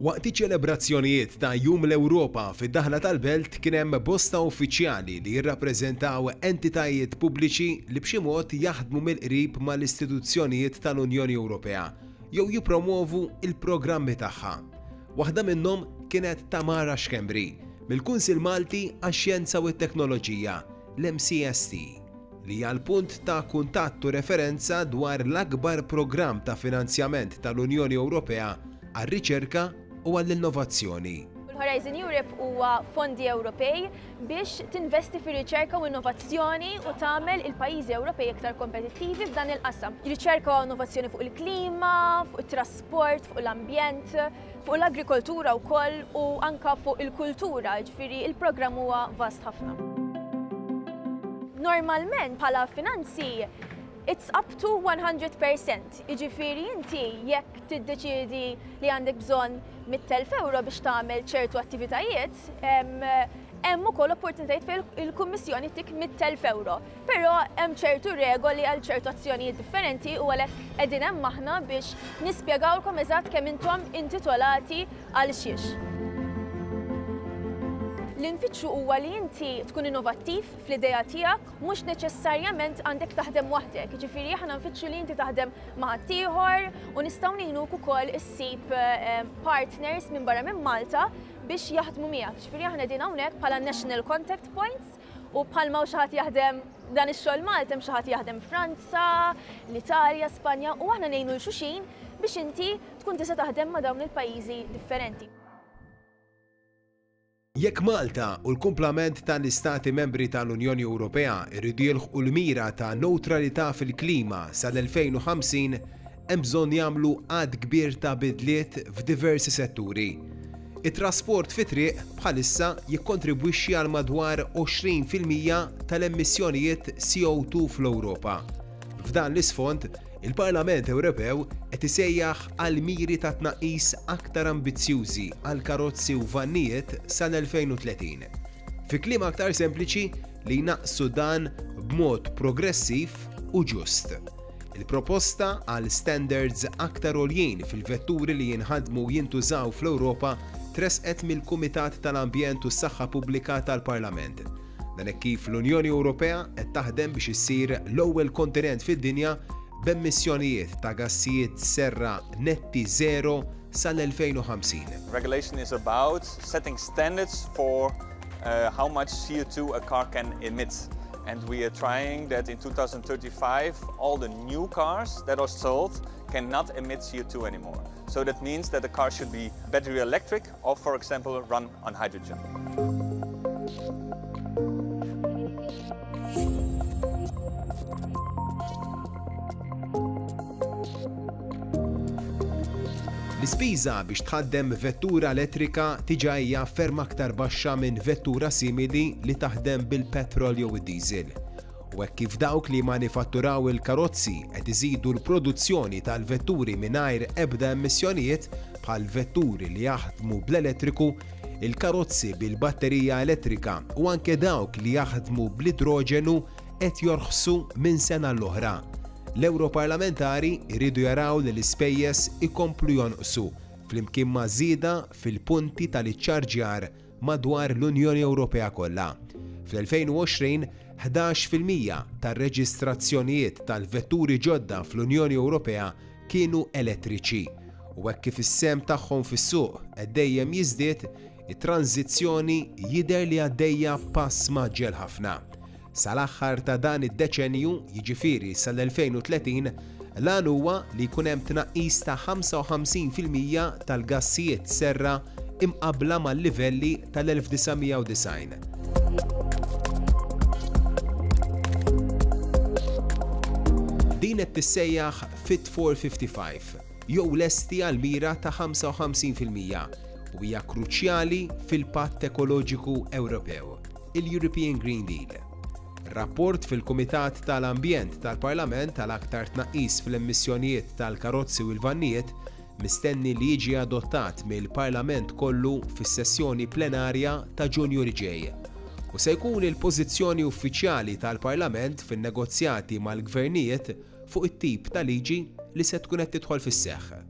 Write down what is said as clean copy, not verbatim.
Waqt iċ-ċelebrazzjonijiet ta' Jum l-Ewropa fid-daħla tal-Belt kien hemm bosta uffiċjali li jirrappreżentaw entitajiet pubbliċi li b'xi mod jaħdmu mill-qrib mal-istituzzjonijiet tal-Unjoni Ewropea jew jippromwovu l-programmi tagħha. Waħda minnhom kienet Tamara Schembri, mill-Kunsill Malti għax-Xjenza u t-Teknoloġija, l-MCST, li hija l-punt ta' kuntatt u referenza dwar l-akbar programm ta' finanzjament tal-Unjoni Ewropea għar-riċerka u għall-innovazzjoni. Il-Horizon Europe huwa fondi Ewropej biex tinvesti fir-riċerka u innovazzjoni u tagħmel il-pajjiżi Ewropej iktar kompetittivi f'dan il-qasam. Riċerka u innovazzjoni fuq il-klima, fuq it-trasport, fuq l-ambjent, fuq l-agrikoltura wkoll u anka fuq il-kultura, ġifieri il-programm huwa vast ħafna. Normalment bħala finanzi it's up to 100%, jiġifieri inti jekk tiddeċiedi li għandek bżonn 100,000 euro biex tagħmel ċertu attivitajiet, hemm ukoll opportunitajiet fejn il-Kummissjoni tik 100,000 euro. Però hemm ċertu regoli għal ċertu azzjonijiet differenti u għalhekk qegħdin hemm aħna biex nispjegawlkom eżatt kemm intom intitolati għal xiex. Li nfittxu huwa li inti tkun innovattiv fl-idea tiegħek, mhux neċessarjament għandek taħdem waħdek. Jiġifieri aħna nfittxu li inti taħdem ma' ħaddieħor u nistgħu ngħinuk ukoll issib eh, partners minn barra minn Malta biex jaħdmu miegħek. Jiġifieri aħna qegħdin hawnhekk bħala National Contact Points U bħalma hawn xi ħadd jaħdem dan ix-xogħol Malta, hemm xi ħadd jaħdem Franza, l-Italja, Spanja u aħna ngħinu 'l xulxin biex inti tkun tista' taħdem ma' dawn il-pajjiżi differenti. Jekk Malta u l-kumplament tal-Istati Membri tal-Unjoni Ewropea jridu jilħqu l-mira ta' newtralità fil-klima sal-2050, hemm bżonn jagħmlu għadd kbir ta' bidliet f'diversi setturi. It-trasport fit-triq bħalissa jikkontribwixxi għal madwar 20% tal-emissjonijiet CO2 fl-Ewropa. F'dan l-isfond, il-Parlament Ewropew qed isejjaħ għal miri ta' tnaqqis aktar ambizzjużi għal karozzi u vannijiet sal-2030. Fi kliem aktar sempliċi, li jnaqqsu dan b'mod progressiv u ġust. Il-proposta għal standards aktar għoljin fil-vetturi li jinħadmu u jintużaw fl-Ewropa tressqet mill-Kumitat tal-Ambjent u s-Saħħa Pubblika tal-Parlament. Dan hekk kif l-Unjoni Ewropea qed taħdem biex issir l-ewwel kontinent fid-dinja b'emissjonijiet ta' gassijiet serra netti żero sal-2050. Regulation is about setting standards for how much CO2 a car can emit. And we are trying that in 2035 all the new cars that are sold cannot emit CO2 anymore. So that means that the car should be battery electric or, for example, run on hydrogen. L-ispiża biex tħaddem vettura elettrika diġà hija ferm aktar baxxa minn vettura simili li taħdem bil-petrol jew id-diesel. U hekk kif dawk li jmanifatturaw il-karozzi qed iżidu l-produzzjoni tal-vetturi mingħajr ebda emissjonijiet bħal vetturi li jaħdmu bl-elettriku, il-karozzi bil-batterija elettrika u anke dawk li jaħdmu bl-idroġenu qed jorħsu minn sena l-oħra. L-Ewroparlamentari jridu jaraw li l-ispejjeż ikomplu jonqsu flimkien ma' żieda fil-punti tal-iċċarġjar madwar l-Unjoni Ewropea kollha. Fl-2020, 11% tar-reġistrazzjonijiet tal-vetturi ġodda fl-Unjoni Ewropea kienu elettriċi u hekk kif is-sehem tagħhom fis-suq qed dejjem jiżdied, it-tranżizzjoni jidher li għaddejja b'pass mgħaġġel ħafna. Sal-aħħar ta' dan id-deċennju, jiġifieri sal-2030, l-għan huwa li jkun hemm tnaqqis ta' 55% tal-gassijiet serra imqabbla mal-livelli tal-1990. Din qed tissejjaħ Fit for 55, jew lesti għal mira ta' 55% u hija kruċjali fil-Patt Ekoloġiku Ewropew. il-European Green Deal. Rapport fil-Kumitat tal-Ambjent tal-Parlament għal aktar tnaqqis fl-emissjonijiet tal-karozzi u l-vannijiet mistenni li jiġi adottat mill-Parlament kollu fis-sessjoni plenarja ta' Ġunju li ġej. U se jkun il-pożizzjoni uffiċjali tal-Parlament fin-negozjati mal-gvernijiet fuq it-tip ta' liġi li se tkun qed tidħol fis-seħħ.